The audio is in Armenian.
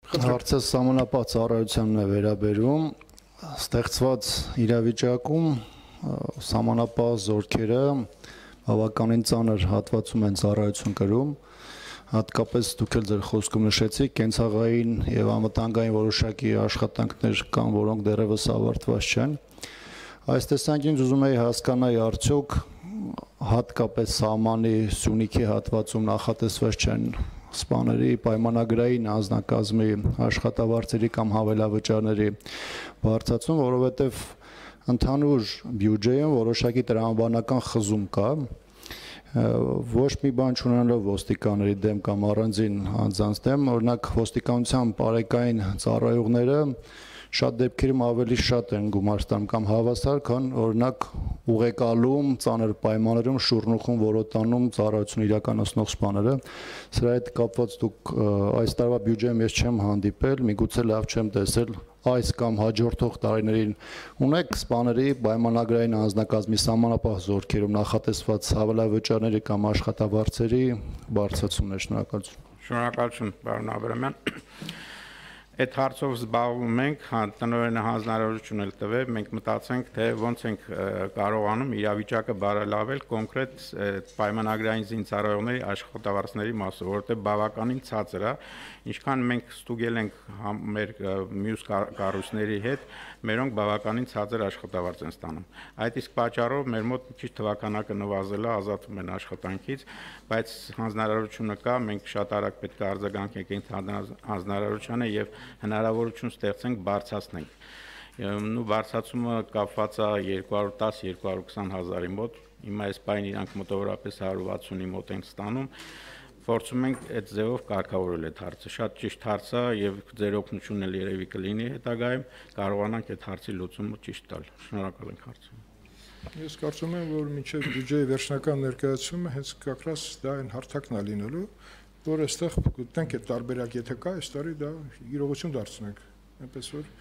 Հարցը սահմանապահ ծառայությանն է վերաբերում, ստեղծված իրավիճակում սահմանապահ զորքերը բավականին ծանր հատվածում են ծառայություն կրում, հատկապես դուք էլ ձեր խոսքում նշեցիք, կենցաղային եւ անվտանգային որոշակի աշխատանքներ կան, որոնք դեռևս ավարտված չեն։ Այս տեսանկյունից ուզում եի հասկանալ, արդյոք հատկապես սահմանի Սյունիքի հատվածում նախատեսված չեն սպաների պայմանագրային անձնակազմի աշխատավարձերի կամ հավելավճարների բարձրացում, որովհետև ընդհանուր բյուջեում որոշակի տրամաբանական խզում կա, ոչ մի բան չունենալով ոստիկանների դեմ կամ առանձին անձանց դեմ, օրինակ ոստիկանության բարեկային ծառայողները շատ դեպքերում ավելի շատ են գումար ստանում կամ հավասար, քան օրինակ ուղեկալում, ծանր պայմաններում շուռնուխում որոտանում ծառայություն իրականացնող սպաները։ Սրա հետ կապված դուք այս տարվա բյուջեում ես չեմ հանդիպել, միգուցե լավ չեմ տեսել, այս կամ հաջորդող տարիներին ունեք սպաների պայմանագրային անձնակազմի սահմանապահ զորքերում նախատեսված հավելավճարների կամ աշխատավարձերի բարձրացումներ։ Շնորհակալություն։ Շնորհակալություն, պարոն Աբրամյան։ Այդ հարցով զբաղվում ենք, տնօրենը հանձնարարություն էլ տվեց, մենք մտածենք, թե ոնց ենք կարողանում իրավիճակը բարելավել կոնկրետ պայմանագրային զինծառայողների աշխատավարձների մասով, որովհետև բավականին ցածր է, ինչքան մենք ստուգել ենք մեր մյուս կառույցների հետ, մերոնք բավականին ցածր աշխատավարձ են ստանում։ Այդ իսկ պատճառով մեր մոտ քիչ թվականակը նվազել է, ազատվում են աշխատանքից, բայց հանձնարարությունը կա, մենք շատ արագ պետք է արձագանքենք այդ հանձնարարությանը եւ հնարավորություն ստեղծենք բարձրացնենք։ Նու բարձրացումը կապված է 210-220 հազարի մոտ, հիմա այս պայն իրանք մոտավորապես 160-ի մոտ են ստանում, փորձում ենք այդ ձևով կարգավորել այդ հարցը։ Շատ ճիշտ հարց է եւ ձեր օգնությունն էլ երևի կլինի հետագայում, կարողանանք այդ հարցի լուծումը ճիշտ տալ։ Շնորհակալ ենք հարցը։ Ես կարծում եմ, որ մինչև բյուջեի վերջնական ներկայացումը հենց կակրաս դա այն հարթակն է լինելու, որ այստեղ գտնենք այդ տարբերակ, եթե կա, այս տարի դա իրողություն դարձնենք, այնպես որ